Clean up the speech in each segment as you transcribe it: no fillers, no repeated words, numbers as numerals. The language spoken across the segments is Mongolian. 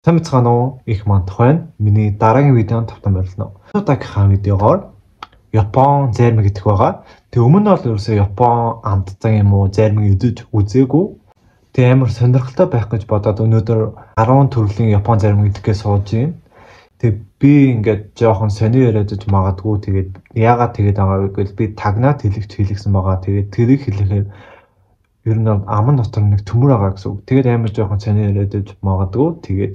Сайн бацгаана уу? Их мандах байна. Миний дараагийн видеонд тавтан боллоо. Одоогийн видеогоор Япон зарим гэдэг байгаа. Тэг өмнө нь бол ерөөсөө Япон амттай юм уу, зарим идэж үзээгүй. Тэг амар сонирхолтой байх гэж бодоод өнөөдөр 10 төрлийн Япон зарим гэдгээ сууж байна. Тэг би ингээд жоохон сони яриад магадгүй. Тэгээд яагаад тэгээд байгаа вэ гэвэл би тагнаад хэлсэн байгаа. Тэгээд тэрийг хэлэхээр ер нь аман дотор нэг төмөр байгаа гэсэн үг. Тэгээд амар жоохон сони яриад магадгүй. Тэгээд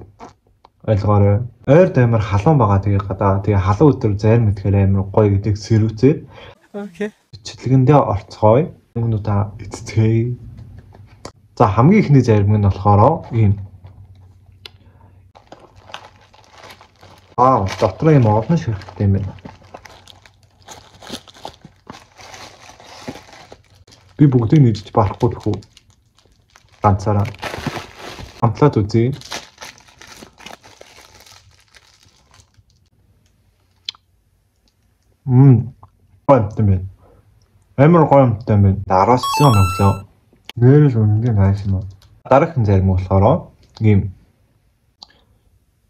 ойлгоорой. Ойрд амар халуун байгаа. Тэгээ халуун өдөр зарим мэдхээр амар гоё гэдэг сэрүүцээ. Окей. Бичлэгэндээ орцгоё. Өмнө та эцтэй. За хамгийн ихний зарим нь болохоор ийм дотор юм олон ширхттэй юм байна. Би бүгдийг нийлж барахгүй тхүү. Ганцаараа амтлаад үзье. Гоё юм байна. Амар гоё юм байна. 10-аас 9 өглөө. Нэрэл үнэндээ найс юм. Дараагийн зарим болохоор ийм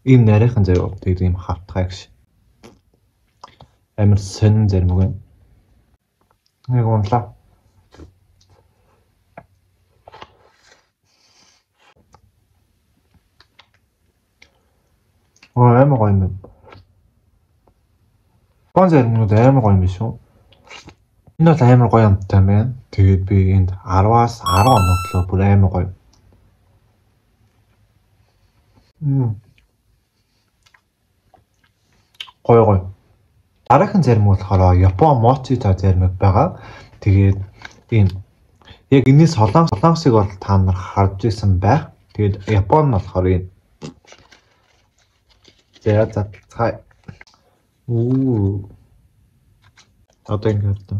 нарийнхан заяа тэгээд ийм хавтгай гэж. Амар сонин зарим үг байна. Нэг унлаа. Амар гоё юм. Япон заримнууд амар гоё юм биш үү? Энэ бол амар гоё юмтай байна. Тэгээд би энд 10-аас 10 оноглоо бүр амар гоё. Гоё. Дараагийн зарим болохоор Япон мочи та зарим байгаа. Тэгээд ийм яг энэний солонгосыг бол та нар харж ирсэн байх. Тэгээд Япон нь болохоор ийм за цай. Одоо ингээд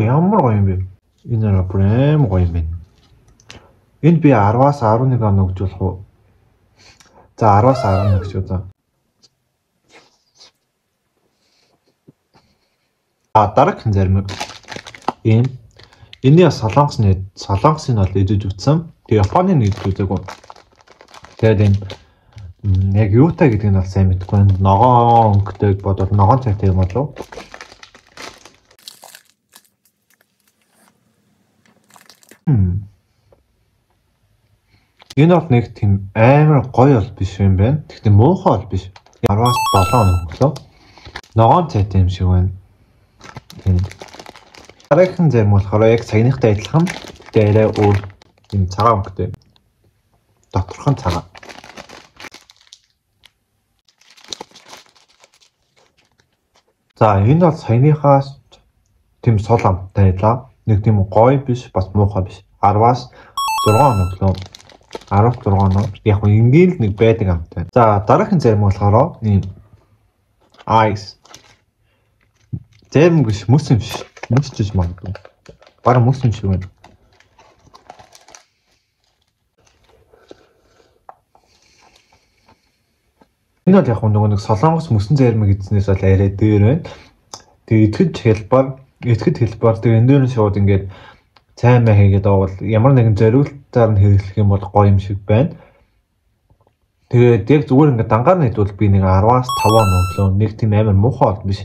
ямар гоё юм бэ? Энэ прям гоё юм байна. Энд би 10-аас 11 он өгч болох уу? За 10-аас 11 гэж үү. Дараагийн зарим ийм энэ солонгосын бол идэж үтсэн. Тэгээ Японы идэж үзээгүй. Тэгээд энэ яг юутай гэдгийг нь бол сайн мэдэхгүй. Ногоон өнгөтэй бодоод ногоон цайтай юм болов. Энэ бол нэг тийм амар гоё бол биш юм байна. Гэхдээ муухай бол биш. 10-аас 7 хоног өглөө. Ногоон цайтай юм шиг байна. Дараагийн зарим болохоор яг саяныхтай адилхан. Гэхдээ арай өөр юм цагаан өнгөтэй. Доторхон цагаан. За энэ бол саяныхаас тийм сул амттай байлаа. Нэг тийм гоё биш, бас муухай биш. 10-аас 6 хоног өглөө. 16 хоног. Яг нь ингээл нэг байдаг амттай. За дараагийн зарим болохоор ийм ice. Зарим биш, мөс юм биш. Мөсчж магадгүй. Бараг мөс юм шиг байна. Энэ бол яг нэг солонгос мөсөн зарим гэдснээс бол арай дээр байна. Тэгээ итгэж хэлбэр тэгээ энэ дээр нь шууд ингээд цай маа хийгээд авал ямар нэгэн зориултаар нь хэрэглэх юм бол гоё юм шиг байна. Тэгээд яг зүгээр ингээд дангаар нь хэдвэл би нэг 10-аас 5 өглөө нэг тийм амар муухай бол биш.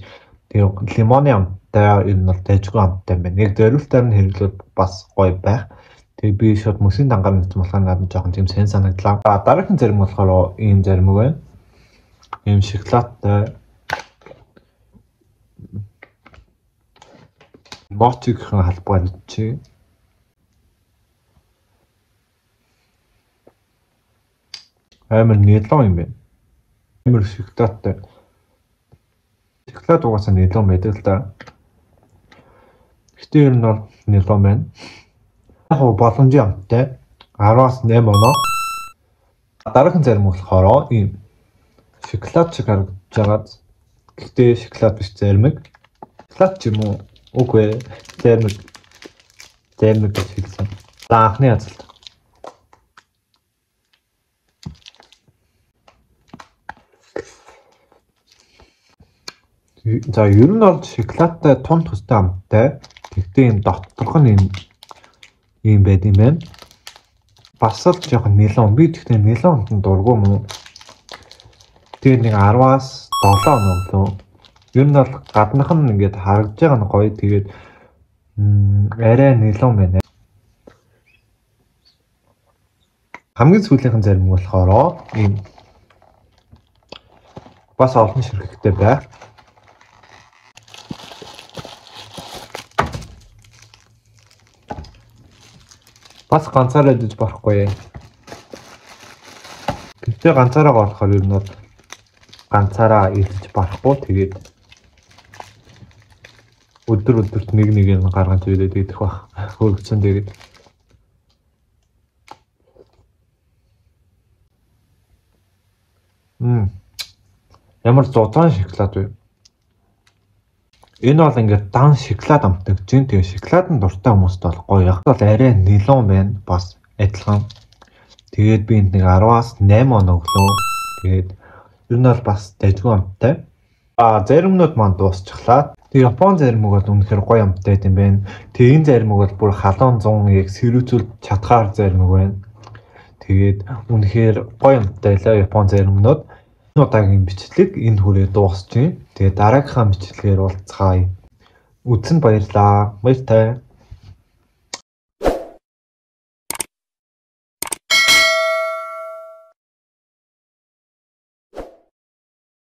Тэгээ лимоны амттай ер нь бол дайжгүй амттай юм байна. Яг зориултаар нь хэрэглээд бас гоё байх. Тэгээ би шууд мөсийн дангаар нь хэлсэн болохоор надад жоохон тийм сайн санагдлаа. Дараагийн зарим болохоор ийм зарим үг байна. Ийм шоколадтай мочигийн халбар чи. Амар нэлон юм байна. Амар шоколадтай. Шоколад угаасаа нэлон байдаг л да. Гэтэ ер нь бол нэлон байна. Яг боломжийн амттай 10-аас 8 оноо. Дараагийн зарим болохоор ийм шоколад шиг харагдаж байгаа. Гэтэ шоколад биш зарим. Шоколад ч юм уу? Үгүй ээ. Зарим гэж хэлсэн. За анхны язалт. За ер нь бол шоколадтай тун төстэй амттай. Тэгтээ энэ доторх нь ийм байд юм байна. Бас л жоохон нилон. Би тэгтээ нилонд нь дургу мөн. Тэгээд нэг 10-аас 7 хоног лөө. Ер нь бол гаднах нь ингээд харагдж байгаа нь гоё. Тэгээд арай нилон байна. Хамгийн сүүлийнхэн зарим нь болохоор ийм бас олон ширхэгтэй бай. Бас ганцаараа дэж барахгүй. Гэтэ ганцаараа болохоор ер нь бол ганцаараа илж барахгүй. Тэгээд өдөрт нэг нь гаргаж ирээд идэх бах. Хөргөцөн тэгээд ямар зузаан шоколад вэ? Энэ бол ингээд дан шоколад амтдаг чинь. Тэгээ шоколадын дуртай хүмүүст бол гоё. Яг бол арай нилон байна. Бас адилхан. Тэгээд би энд нэг 10-аас 8 хоног өглөө. Тэгээд ер нь бол бас дайггүй амттай. Заримнууд маань дуусчихлаа. Тэгээ Япон заримуг бол үнэхээр гоё амттай юм байна. Тэгээ энэ заримуг бол бүр халуун 100 яг сэрүүцүүл чадхаар заримуг байна. Тэгээд үнэхээр гоё амттай лээ Япон заримнууд. Удаагийн бичлэг энэ хүрээ дуусчихъя. Тэгээ дараагийнхаа бичлэгээр уулзцаая. Үзсэнд баярлалаа. Баяртай.